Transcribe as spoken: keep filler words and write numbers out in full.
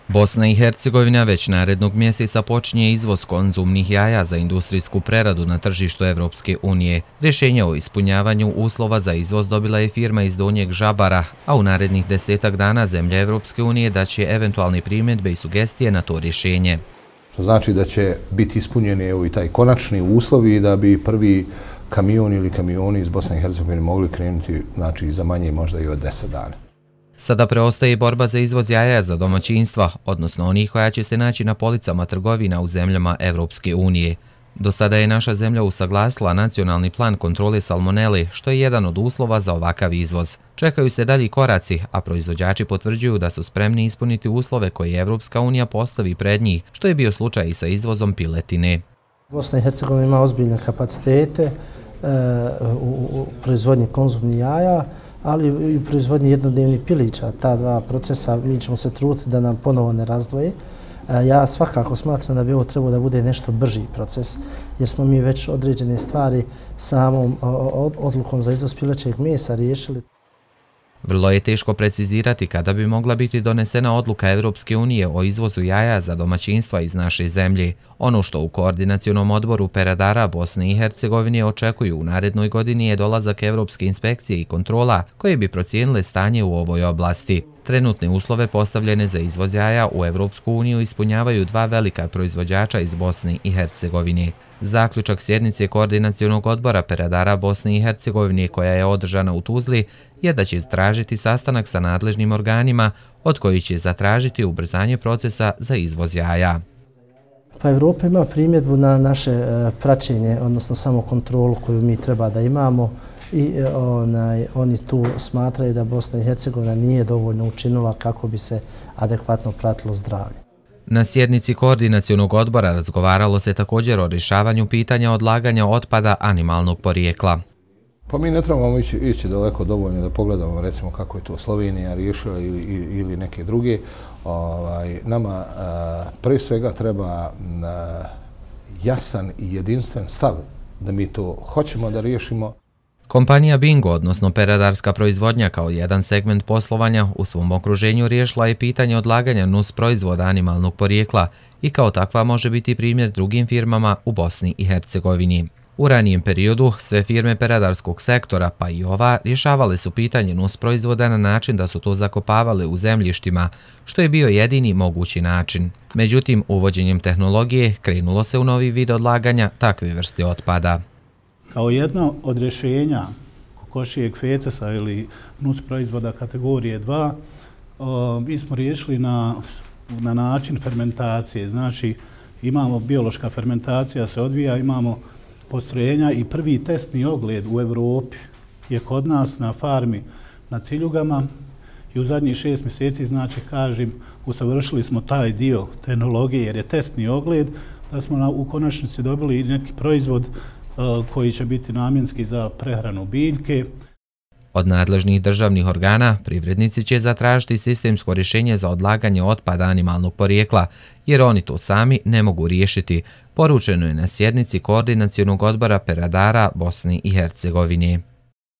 Bosna i Hercegovina već narednog mjeseca počinje izvoz konzumnih jaja za industrijsku preradu na tržištu Evropske unije. Rješenje o ispunjavanju uslova za izvoz dobila je firma iz Donjeg Žabara, a u narednih desetak dana zemlje Evropske unije daće eventualne primjedbe i sugestije na to rješenje. Što znači da će biti ispunjeni i taj konačni uslovi da bi prvi kamion ili kamioni iz Bosne i Hercegovine mogli krenuti, znači za manje možda i od deset dana. Sada preostaje borba za izvoz jaja za domaćinstva, odnosno onih koja će se naći na policama trgovina u zemljama Evropske unije. Do sada je naša zemlja usaglasila nacionalni plan kontrole salmonele, što je jedan od uslova za ovakav izvoz. Čekaju se dalji koraci, a proizvođači potvrđuju da su spremni ispuniti uslove koje Evropska unija postavi pred njih, što je bio slučaj i sa izvozom piletine. Bosna i Hercegovina ima ozbiljne kapacitete e, u, u proizvodnji konzumnih jaja, ali i u proizvodnji jednodnevnih pilića. Ta dva procesa mi ćemo se truditi da nam ponovo ne razdvoje. Ja svakako smatram da bi ovo trebalo da bude nešto brži proces, jer smo mi već određene stvari samom odlukom za izvoz pilećeg mesa riješili. Vrlo je teško precizirati kada bi mogla biti donesena odluka Evropske unije o izvozu jaja za domaćinstva iz naše zemlje. Ono što u Koordinacionom odboru peradara Bosne i Hercegovine očekuju u narednoj godini je dolazak Evropske inspekcije i kontrola koje bi procijenile stanje u ovoj oblasti. Trenutne uslove postavljene za izvoz jaja u Evropsku uniju ispunjavaju dva velika proizvođača iz Bosne i Hercegovine. Zaključak sjednice Koordinacionog odbora peradara Bosne i Hercegovine koja je održana u Tuzli je da će tražiti sastanak sa nadležnim organima od kojih će zatražiti ubrzanje procesa za izvoz jaja. Pa Evropa ima primjedbu na naše praćenje, odnosno samo kontrolu koju mi treba da imamo i onaj, oni tu smatraju da Bosna i Hercegovina nije dovoljno učinila kako bi se adekvatno pratilo zdravlje. Na sjednici Koordinacionog odbora razgovaralo se također o rješavanju pitanja odlaganja otpada animalnog porijekla. Pa mi ne trebamo ići, ići daleko dovoljno da pogledamo recimo kako je to Slovenija riješila ili, ili neke druge. Ovaj, nama a, pre svega treba a, jasan i jedinstven stav da mi to hoćemo da riješimo. Kompanija Bingo, odnosno peradarska proizvodnja kao jedan segment poslovanja u svom okruženju riješila je pitanje odlaganja nus proizvoda animalnog porijekla i kao takva može biti primjer drugim firmama u Bosni i Hercegovini. U ranijem periodu sve firme peradarskog sektora, pa i ova, rješavale su pitanje nus proizvoda na način da su to zakopavale u zemljištima, što je bio jedini mogući način. Međutim, uvođenjem tehnologije krenulo se u novi vid odlaganja takve vrste otpada. Kao jedno od rješenja kokošijeg fecesa ili nus proizvoda kategorije dva, mi smo riješili na, na način fermentacije. Znači, imamo biološka fermentacija se odvija, imamo postrojenja i prvi testni ogled u Evropi je kod nas na farmi na Ciljugama i u zadnjih šest mjeseci, znači, kažem, usavršili smo taj dio tehnologije jer je testni ogled, da smo na, u konačnici dobili neki proizvod koji će biti namjenski za prehranu biljke. Od nadležnih državnih organa privrednici će zatražiti sistemsko rješenje za odlaganje otpada animalnog porijekla, jer oni to sami ne mogu riješiti, poručeno je na sjednici Koordinacionog odbora peradara Bosne i Hercegovine.